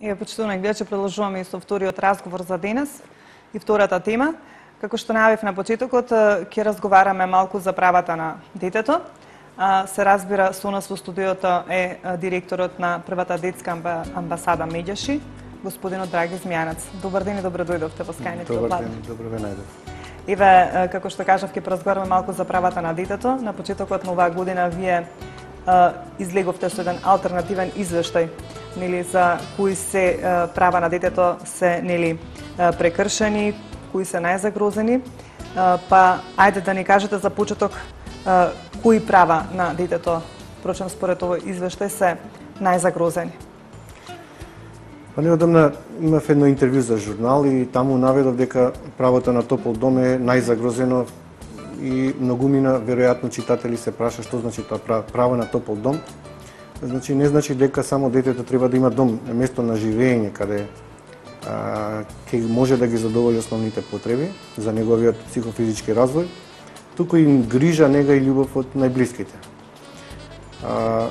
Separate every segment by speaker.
Speaker 1: Еве, почитувани гледачи, продолжуваме и со вториот разговор за денес и втората тема. Како што најавив на почетокот, ќе разговараме малку за правата на детето. Се разбира, со нас во студиото е директорот на првата детска амбасада Медјаши, господинот Драги Змијанац. Добар ден и добро дојдовте во Скајните од Ладна.
Speaker 2: Добар ден, добро ве најдов.
Speaker 1: Еве, како што кажав, ќе поразговараме малку за правата на детето. На почетокот на оваа година вие излеговте со еден алтернативен извештај, нели, за кои се права на детето се, нели, прекршени, кои се најзагрозени. Па ајде да ни кажете за почеток кои права на детето, впрочем според овој извештај, се најзагрозени.
Speaker 2: Па неодамна имав едно интервју за журнал и таму наведов дека правото на топол дом е најзагрозено и многумина веројатно читатели се праша што значи тоа право на топол дом. Значи не значи дека само детето треба да има дом, место на живење каде ќе може да ги задоволи основните потреби за неговиот психофизички развој, туку и грижа, нега и љубов од најблиските.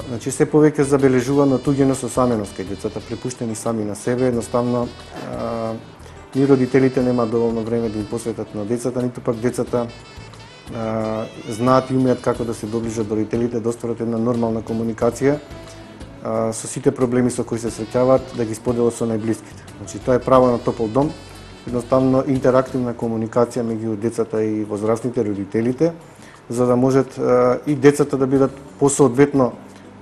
Speaker 2: Значи се повеќе забележувано туѓено со саменост кај децата, препуштени сами на себе, едноставно ни родителите нема доволно време да им посветат на децата, ниту пак децата знаат и умеат како да се доближат до родителите, да остварат една нормална комуникација со сите проблеми со кои се среќаваат, да ги споделат со најблиските. Значи тоа е право на топол дом, едноставно интерактивна комуникација меѓу децата и возрастните, родителите, за да можат и децата да бидат посоодветно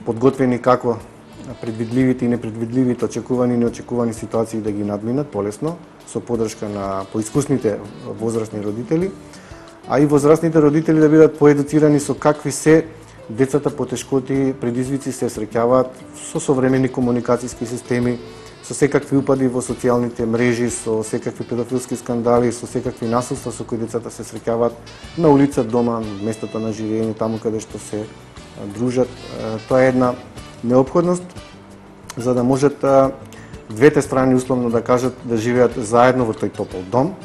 Speaker 2: подготвени како предвидливите и непредвидливите, очекувани и неочекувани ситуации да ги надминат полесно, со поддршка на поискусните возрастни родители, а и возрастните родители да бидат поедуцирани со какви се децата потешкоти, предизвици се среќаваат со современи комуникацијски системи, со секакви упади во социјалните мрежи, со секакви педофилски скандали, со секакви насилства со кои децата се среќаваат на улица, дома, местото на живење, таму каде што се дружат. Тоа е една неопходност за да можат двете страни условно да кажат да живеат заедно во тој топол дом.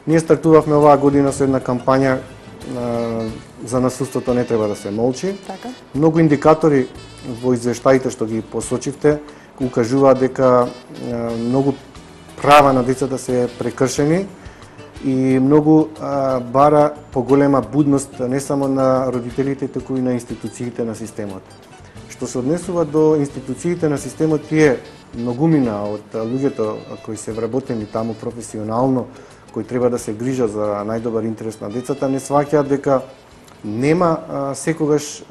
Speaker 2: Ние стартувавме оваа година со една кампања за насилството не треба да се молчи.
Speaker 1: Така.
Speaker 2: Многу индикатори во извештаите што ги посочивте укажуваат дека многу права на децата се прекршени и многу бара поголема будност не само на родителите, туку и на институциите на системот. Што се однесува до институциите на системот, тие многумина од луѓето кои се вработени таму професионално, кои треба да се грижат за најдобар интерес на децата, не сваќаат дека нема секогаш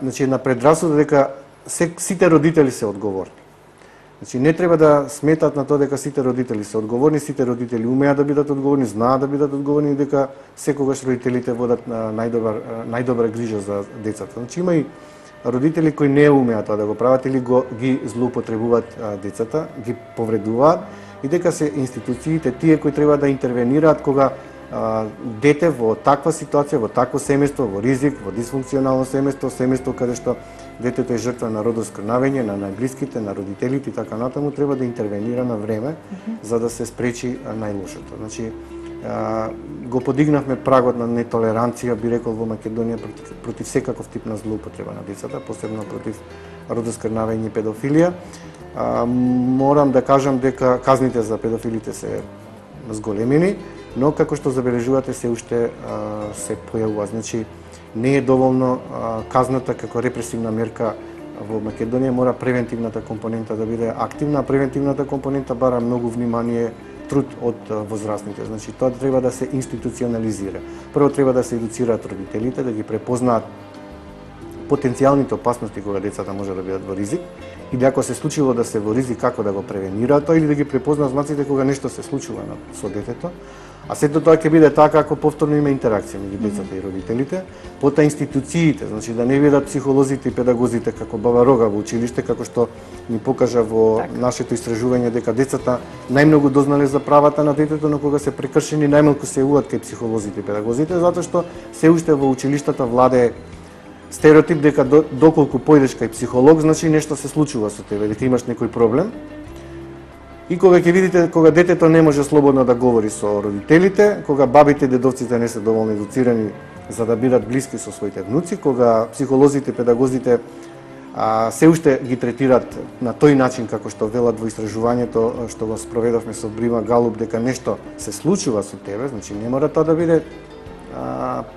Speaker 2: значи една предрасуда дека сите родители се одговорни. Значи не треба да сметат на тоа дека сите родители се одговорни, сите родители умеат да бидат одговорни, знаат да бидат одговорни и дека секогаш родителите водат најдобра грижа за децата. Значи има и родители кои не умеат тоа да го прават или ги злоупотребуваат децата, ги повредуваат и дека се институциите тие кои треба да интервенираат кога дете во таква ситуација, во такво семејство, во ризик, во дисфункционално семејство каде што детето е жртва на родоскрнавење, на најблиските, на родителите и така натаму, треба да интервенира на време за да се спречи најлошото. Значи го подигнавме прагот на нетолеранција, би рекол, во Македонија против секаков тип на злоупотреба на децата, посебно против родоскрнавење и педофилија. Морам да кажам дека казните за педофилите се зголемени, но како што забележувате се уште се појавува. Значи не е доволно казната како репресивна мерка во Македонија, мора превентивната компонента да биде активна, а превентивната компонента бара многу внимание, труд од возрастните. Значи тоа треба да се институционализира. Прво треба да се едуцираат родителите, да ги препознаат потенцијалните опасности кога децата може да бидат во ризик, или ако се случило да се во ризик, како да го превенираат тоа, или да ги препознаат знаците кога нешто се случува со детето. А сето тоа ќе биде така ако повторно има интеракција меѓу децата и родителите, потоа институциите, значи да не бидат психолозите и педагозите како баба Рога во училиште, како што ни покажа во нашето истражување дека децата најмногу дознале за правата на детето, но кога се прекршени најмалку се јавуваат кај психолозите и педагозите, затоа што се уште во училиштата владее стереотип дека доколку појдеш кај психолог, значи нешто се случува со тебе, дека имаш некој проблем. И кога ќе видите, кога детето не може слободно да говори со родителите, кога бабите и дедовците не се доволно едуцирани за да бидат блиски со своите внуци, кога психолозите, педагозите се уште ги третираат на тој начин како што велат во истражувањето што го спроведовме со Брима Галуп, дека нешто се случува со тебе, значи не мора тоа да биде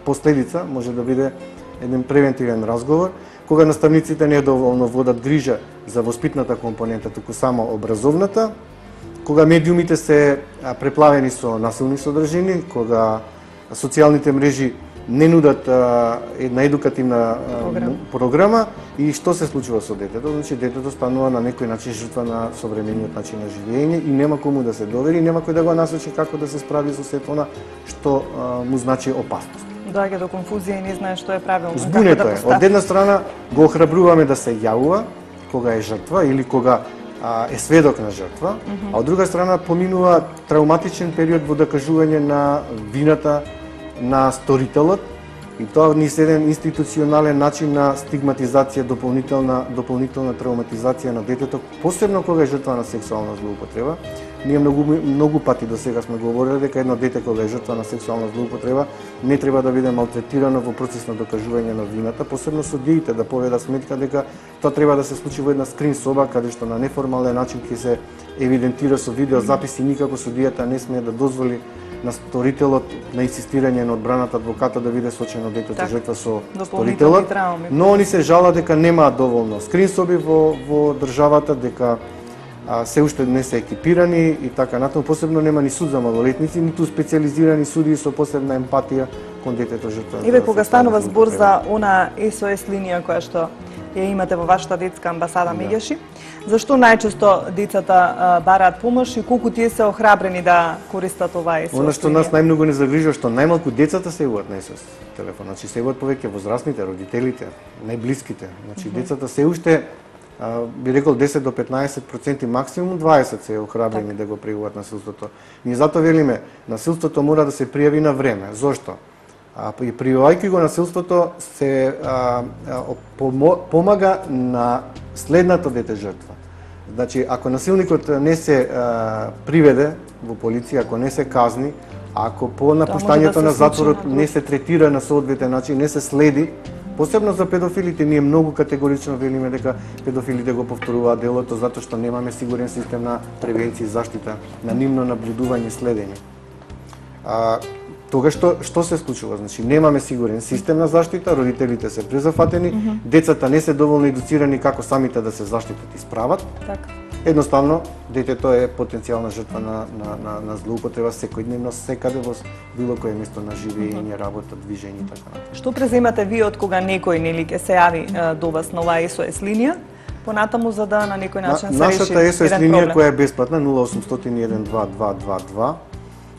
Speaker 2: последица, може да биде еден превентивен разговор, кога наставниците не доволно водат грижа за воспитната компонента, туку само образовната, кога медиумите се преплавени со насилни содржини, кога социјалните мрежи не нудат една едукативна програма и што се случува со детето? Значи детето станува на некој начин жртва на современиот начин на живење и нема кому да се довери, нема кој да го насочи како да се справи со сето она што му значи опасност.
Speaker 1: Доаѓа до конфузија и не знае што е правилно.
Speaker 2: Збунето е. Од една страна го охрабруваме да се јавува кога е жртва или кога е сведок на жртва, а од друга страна поминува травматичен период во докажување на вината на сторителот и тоа ни се еден институционален начин на стигматизација, дополнителна травматизација на детето, посебно кога е жртва на сексуална злоупотреба. Ние многу пати до сега сме говореле дека едно дете кога е жртва на сексуална злоупотреба не треба да биде малтретирано во процес на докажување на вината, посебно судиите да поведат сметка дека тоа треба да се случи во една скрин соба каде што на неформален начин ќе се евидентира со видеозаписи, никако судијата не смее да дозволи на сторителот на инсистирање на одбраната адвоката да биде сочено детето жртва со сторителот, но они се жалат дека немаат доволно скрин соби во државата, дека се уште не се екипирани и така натаму, посебно нема ни суд за малолетници, ниту специализирани суди со посебна емпатија кон детето жртва.
Speaker 1: Еве кога станува збор за она SOS линија која што ја имате во вашата детска амбасада Меѓаши, зашто најчесто децата бараат помош и колку тие се охрабрени да користат оваа SOS?
Speaker 2: Она што нас најмногу не загрижува што најмалку децата се јавуваат на SOS телефон, значи се јавуваат повеќе возрастните, родителите, најблиските. Значи децата се уште би рекол 10 до 15%, максимум 20 се охрабрени да го пријавуваат насилството. Ние затоа велиме, насилството мора да се пријави на време. Зошто? И пријавајќи го насилството се помага на следното дете жртва. Значи, ако насилникот не се приведе во полиција, ако не се казни, ако по напуштањето на затворот не се третира на соодветен начин, не се следи, посебно за педофилите, ние многу категорично велиме дека педофилите го повторуваат делото затоа што немаме сигурен систем на превенција и заштита, на нивно наблюдување и следење. Тога што се случува? Значи немаме сигурен систем на заштита, родителите се презафатени, децата не се доволно едуцирани како самите да се заштитат и справат. Едноставно, детето е потенцијална жртва на злоупотреба секојдневно, секаде во било кое место на живење, работа, движење и така натаму.
Speaker 1: Што преземате вие од кога некој нели ќе се јави до вас на оваа SOS линија, понатаму за да на некој начин се реши
Speaker 2: нашата SOS линија која е бесплатна 0800 12222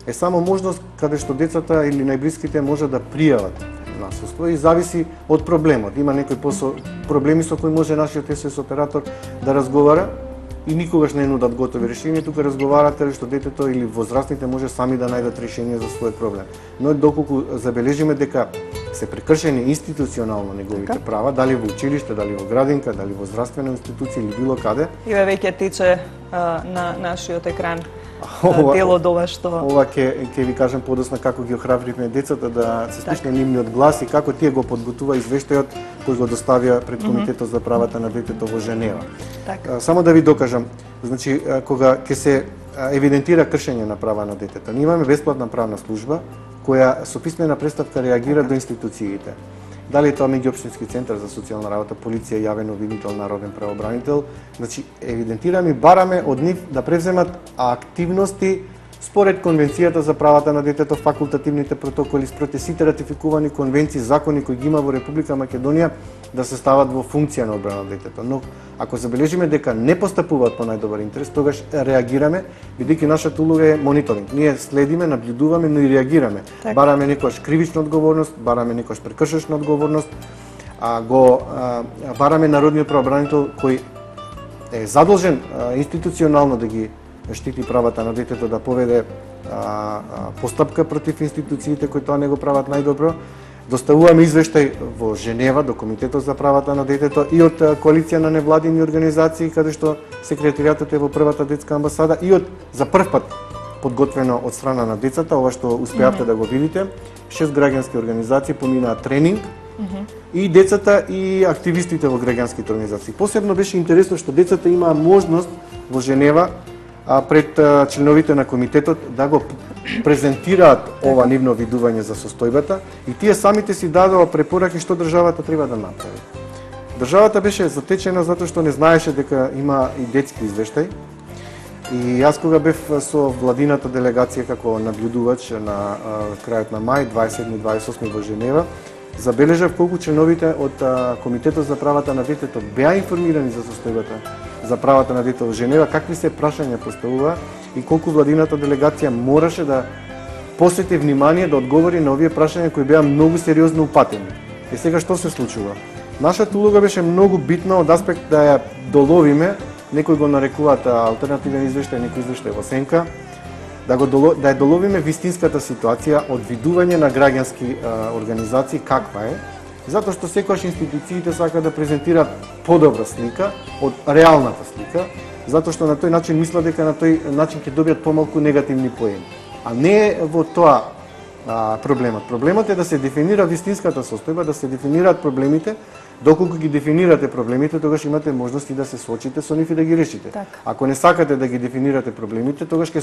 Speaker 2: е само можност каде што децата или најблиските може да пријават насилство и зависи од проблемот. Има некои проблеми со кои може нашиот SOS оператор да разговара и никогаш не нудат готови решенија, тука разговарате што детето или возрастните може сами да најдат решение за свој проблем. Но доколку забележиме дека се прекршени институционално неговите права, дали во училиште, дали во градинка, дали во здравствена институција или било каде.
Speaker 1: И веќе тече на нашиот екран дело до ова што...
Speaker 2: Ова ќе ви кажам подосна како ги охрабривме децата да се слушне нивниот глас и како тие го подготува извештајот кој го доставија пред Комитетот за правата на детето во Женева. Само да ви докажам, значи кога ќе се евидентира кршење на права на детето, ние имаме бесплатна правна служба која со писмена преставка реагира до институциите. Дали е тоа меѓуопштински центар за социјална работа, полиција, јавен обвинител, народен правобранител, значи евидентираме и бараме од нив да превземат активности според Конвенцијата за правата на детето, факултативните протоколи, според сите ратификувани конвенции, закони кои ги има во Република Македонија да се стават во функција на одбрана на детето. Но ако забележиме дека не постапуваат по најдобар интерес, тогаш реагираме, бидејќи нашата улога е мониторинг. Ние следиме, наблюдуваме, но и реагираме. Бараме некојаш кривична одговорност, бараме некојаш прекршечна одговорност, бараме народниот правобранител кој е задолжен институционално да ги штити правата на детето, да поведе постапка против институциите кои тоа не го прават најдобро. Доставуваме извештај во Женева до Комитетот за правата на детето и од коалиција на невладини организации каде што секретаријатот е во првата детска амбасада и од за прв пат подготвено од страна на децата, ова што успеавте да го видите. 6 граѓански организации поминаа тренинг И децата и активистите во граѓанските организации. Посебно беше интересно што децата имаа можност во Женева пред членовите на комитетот да го презентираат ова нивно видување за состојбата и тие самите си дадоа препораки што државата треба да направи. Државата беше затечена затоа што не знаеше дека има и детски извештај. И јас кога бев со владината делегација како наблюдувач на крајот на мај, 27-28 во Женева, забележав колку членовите од Комитетот за правата на детето беа информирани за состојбата за правата на детето во Женева, какви се прашања поставува и колку владината делегација мораше да посвети внимание да одговори на овие прашања кои беа многу сериозно упатени. И сега што се случува? Нашата улога беше многу битна од аспект да ја доловиме, некои го нарекуваат алтернативен извештај, некои извештај во сенка, да ја доловиме вистинската ситуација од видување на граѓански организации каква е, затоа што секогаш институциите сакаат да презентираат подобра слика од реалната слика, затоа што на тој начин мислат дека на тој начин ќе добијат помалку негативни поени. А не е во тоа проблемот. Проблемот е да се дефинира вистинската состојба, да се дефинираат проблемите. Доколку ги дефинирате проблемите, тогаш имате можности да се соочите со нив и да ги решите.
Speaker 1: Так.
Speaker 2: Ако не сакате да ги дефинирате проблемите, тогаш ќе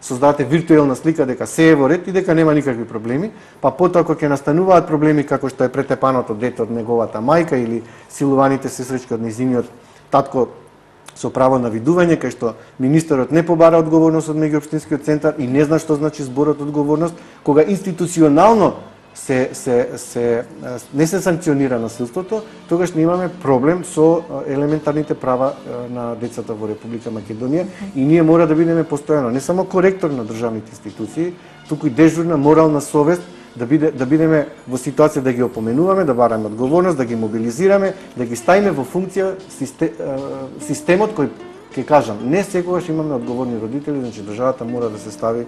Speaker 2: создавате виртуелна слика дека се е во ред и дека нема никакви проблеми, па потоа кога ќе настануваат проблеми како што е претепаното дете од неговата мајка или силуваните сестрички од нејзиниот татко со право на видување, кај што министерот не побара одговорност од меѓуопштинскиот центар и не зна што значи зборот одговорност, кога институционално не се санкционира насилството, тогаш не имаме проблем со елементарните права на децата во Република Македонија и ние мора да бидеме постојано не само коректор на државните институции, туку и дежурна морална совест да бидеме во ситуација да ги опоменуваме, да бараме одговорност, да ги мобилизираме, да ги ставиме во функција системот кој ќе кажам, не секогаш имаме одговорни родители, значи државата мора да се стави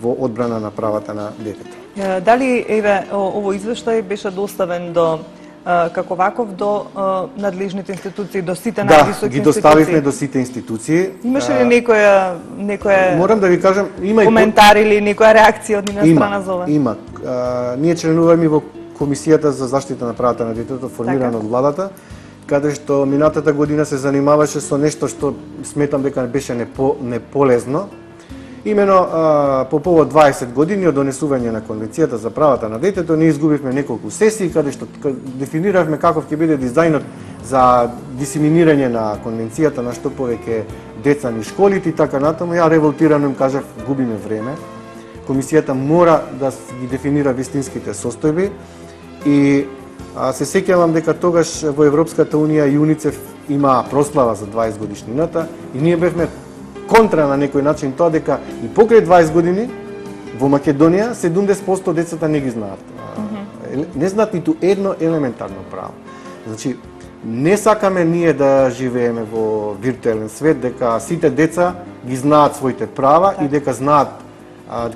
Speaker 2: во одбрана на правата на детето.
Speaker 1: Дали овој извештај беше доставен до како ваков до надлежните институции, до сите највисоки институции?
Speaker 2: Да, ги доставивме до сите институции.
Speaker 1: Имаше ли некоја
Speaker 2: морам да ви кажам, има
Speaker 1: коментар или некоја реакција од нивна страна за ова?
Speaker 2: Има. Ние членуваме во Комисијата за заштита на правата на детето, формирана од владата, каде што минатата година се занимаваше со нешто што сметам дека беше неполезно. Имено по повод 20 години од донесување на Конвенцијата за правата на детето, ние изгубивме неколку сесии каде што дефиниравме каков ќе биде дизајнот за дисеминирање на Конвенцијата на што повеќе деца низ школите и така натаму. Ја револтирано им кажав, губиме време. Комисијата мора да ги дефинира вистинските состојби и се сеќавам дека тогаш во Европската Унија и ЮНИЦЕФ има прослава за 20 годишнината и ние бевме контра на некој начин тоа дека и покрај 20 години во Македонија 70% децата не ги знаат. Не знаат ниту едно елементарно право. Значи, не сакаме ние да живееме во виртуелен свет, дека сите деца ги знаат своите права и дека знаат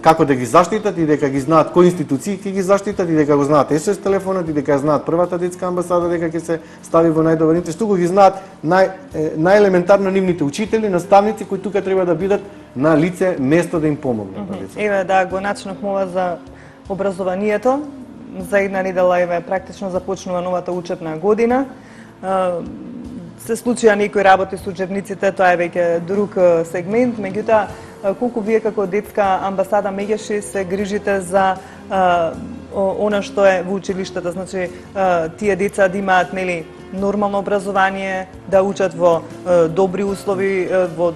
Speaker 2: како да ги заштитат и дека ги знаат кои институции ќе ги заштитат и дека го знаат СОС телефонот и дека ја знаат првата детска амбасада дека ќе се стави во најдобар интерес, туку ги знаат најелементарно нивните учители, наставници кои тука треба да бидат на лице место да им помогнат на децата.
Speaker 1: Еве да го начнавме ова за образованието. За една недела еве практично започнува новата учебна година. Се случија некои работи со учебниците, тоа е веќе друг сегмент, меѓутоа колку вие како детска амбасада Меѓаши се грижите за она што е во училиштата, значи тие деца да имаат нели нормално образование, да учат во добри услови, во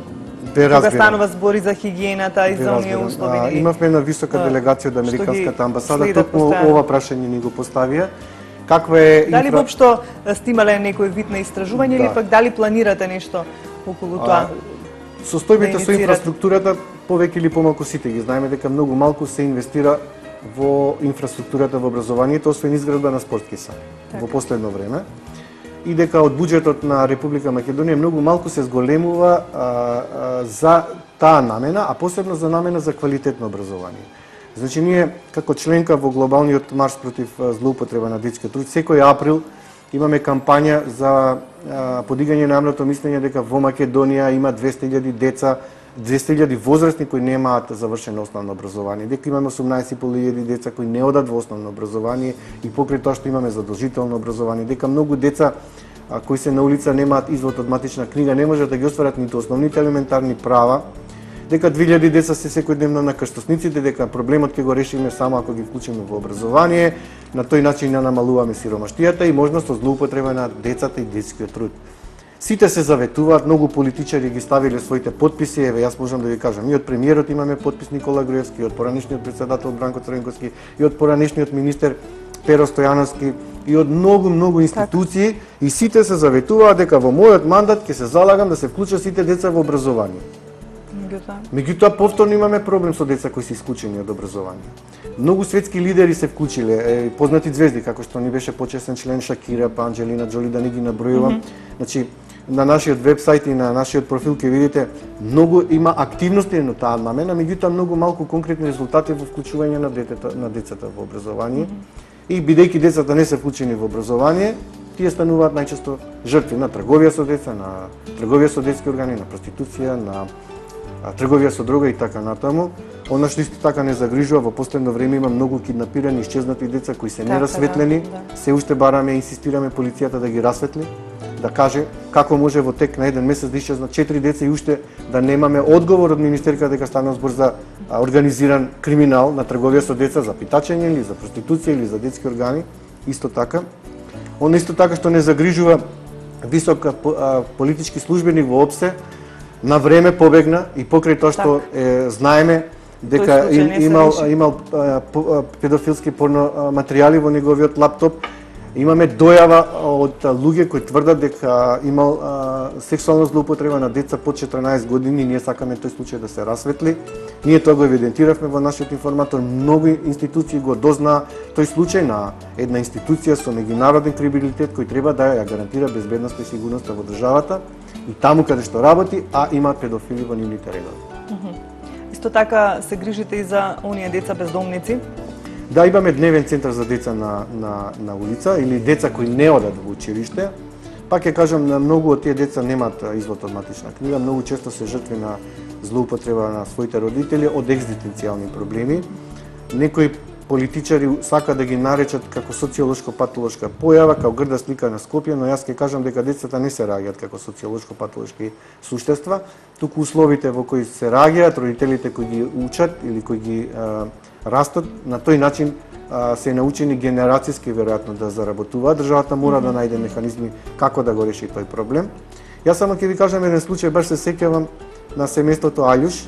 Speaker 1: кога станува збори за хигиената и за оние услови.
Speaker 2: Имавме една висока делегација од Американската амбасада, токму ова прашање ни го поставија. Каква е
Speaker 1: дали воопшто сте имале некој вид на истражување или пак дали планирате нешто околу тоа?
Speaker 2: Состојбите со инфраструктурата повеќе или помалку сите ги знаеме дека многу малку се инвестира во инфраструктурата во образованието, освен изградба на спортски сали во последно време. И дека од буџетот на Република Македонија многу малку се зголемува за таа намена, а посебно за намена за квалитетно образование. Значи ние како членка во глобалниот марш против злоупотреба на детски труд секој април имаме кампања за подигање на јавното мислење дека во Македонија има 200.000 деца 200.000 возрастни кои немаат завршено основно образование, дека имаме 18.500 деца кои не одат во основно образование и покрај тоа што имаме задолжително образование, дека многу деца кои се на улица немаат извод од матична книга, не можат да ги остварат ниту основните елементарни права, дека 2000 деца се секојдневно на крстосниците, дека проблемот ќе го решиме само ако ги вклучиме во образование, на тој начин ја намалуваме сиромаштијата и можност од злоупотреба на децата и детскиот труд. Сите се заветуваат, многу политичари ги ставиле своите подписи, еве јас можам да ви кажам, и од премиерот имаме подпис Никола Груевски, и од поранешниот претседател Бранко Црвенковски, и од поранешниот министер Перо Стојановски, и од многу институции, и сите се заветуваат дека во мојот мандат ќе се залагам да се вклучат сите деца во образование. Меѓутоа повторно имаме проблем со деца кои се исклучени од образование. Многу светски лидери се вклучиле, познати звезди како што ни беше почесен член Шакира, па Анџелина Џоли, да не ги набројувам. Значи на нашиот вебсајт и на нашиот профил ќе видите многу има активности на таа намена, меѓутоа многу малку конкретни резултати во вклучување на децата во образование. И бидејќи децата не се вклучени во образование, тие стануваат најчесто жртви на трговија со деца, на трговија со детски органи, на проституција, на трговија со дрога и така натаму. Она што исто така не загрижува, во последно време има многу киднапирани и исчезнати деца кои се нерасветлени. Се уште бараме и инсистираме полицијата да ги расветли, да каже како може во тек на еден месец да исчезнат 4 деца и уште да немаме одговор од министерката дека станува збор за организиран криминал на трговија со деца, за питачење или за проституција или за детски органи. Исто така. Она исто така што не загрижува висок политички службеник во ОПСЕ, на време побегна и покрај тоа што знаеме дека имал педофилски порно материјали во неговиот лаптоп. Имаме дојава од луѓе кои тврдат дека имал сексуална злоупотреба на деца под 14 години. Ние сакаме тој случај да се расветли. Ние тоа го евидентиравме во нашиот информатор. Многу институции го дознаа тој случај на една институција со меѓународен кредибилитет кој треба да ја гарантира безбедноста и сигурноста во државата и таму каде што работи, а имаат педофили во нивните редови.
Speaker 1: Исто така се грижите и за оние деца бездомници?
Speaker 2: Да, имаме дневен центар за деца на улица или деца кои не одат во училиште. Пак ќе кажам, на многу од тие деца немаат извод од матична книга, многу често се жртви на злоупотреба на своите родители од екзистенцијални проблеми. Некои политичари сака да ги наречат како социолошко-патолошка појава, како грда слика на Скопје, но јас ќе кажам дека децата не се раѓаат како социолошко-патолошки суштества, туку условите во кои се раѓаат, родителите кои ги учат или кои ги растат, на тој начин се научени генерацијски веројатно да заработуваат. Државата мора да најде механизми како да го реши тој проблем. Јас само ќе ви кажам еден случај, баш се сеќавам на семејството Аљуш.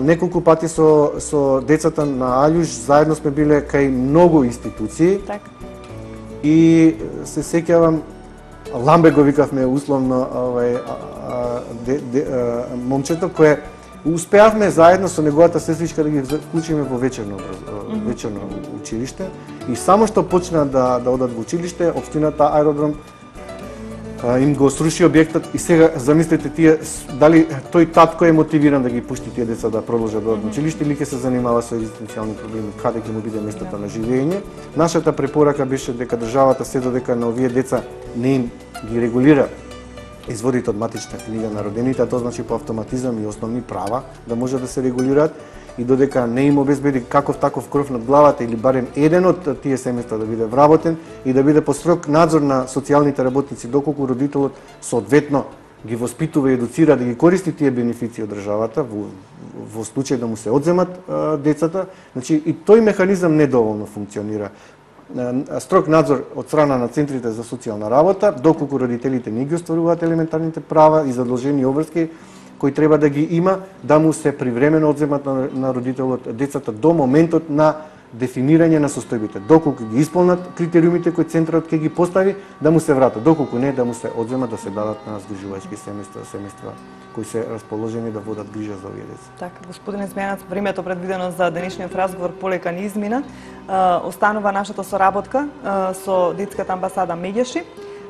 Speaker 2: Неколку пати со децата на Аљуш заедно сме биле кај многу институции.
Speaker 1: Так.
Speaker 2: И се сеќавам, Ламбе го викавме условно момчето кое успеавме заедно со неговата сестричка да ги вклучиме во вечерно училиште и само што почна да одат во училиште, општината Аеродром им го сруши објектот и сега замислете тие дали тој татко е мотивиран да ги пушти тие деца да продолжат да одат во училиште или ќе се занимава со екзистенцијални проблеми, каде ќе му биде местото на живење. Нашата препорака беше дека државата се додека на овие деца не им ги регулира изводите од матична книга на родените, а тоа значи по автоматизам и основни права да може да се регулираат и додека не им обезбеди каков таков кров над главата или барем еден од тие семејства да биде вработен и да биде под строг надзор на социјалните работници, доколку родителот соодветно ги воспитува и едуцира да ги користи тие бенефиции од државата во случај да му се одземат децата, значи и тој механизам недоволно функционира. Строг надзор од страна на центрите за социјална работа, доколку родителите не ги остваруваат елементарните права и задолжени обврски кои треба да ги има, да му се привремено одземат на родителот децата до моментот на дефинирање на состојбите. Доколку ги исполнат критериумите кои центарот ќе ги постави, да му се вратат. Доколку не, да му се одземат, да се дадат на згрижувачки семејства кои се расположени да водат грижа за овие деца.
Speaker 1: Така, господине Смејанац, времето предвидено за денешниот разговор полека ни измина. Останува нашата соработка со детската амбасада Меѓеши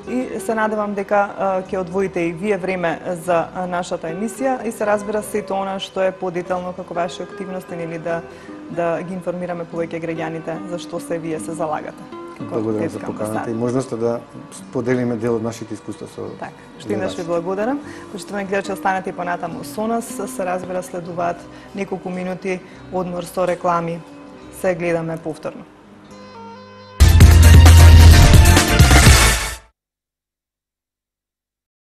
Speaker 1: и се надевам дека ќе одвоите и вие време за нашата емисија и се разбира сето она што е подетално како ваши активности или да ги информираме повеќе граѓаните за што се вие се залагате.
Speaker 2: Благодарам за поканата и можноста да споделиме дел од нашите искуства со
Speaker 1: така. Штинаш ви благодарам. Почитувани гледачи, останете и понатаму со нас. Се разбира, следуваат неколку минути одмор со реклами. Се гледаме повторно.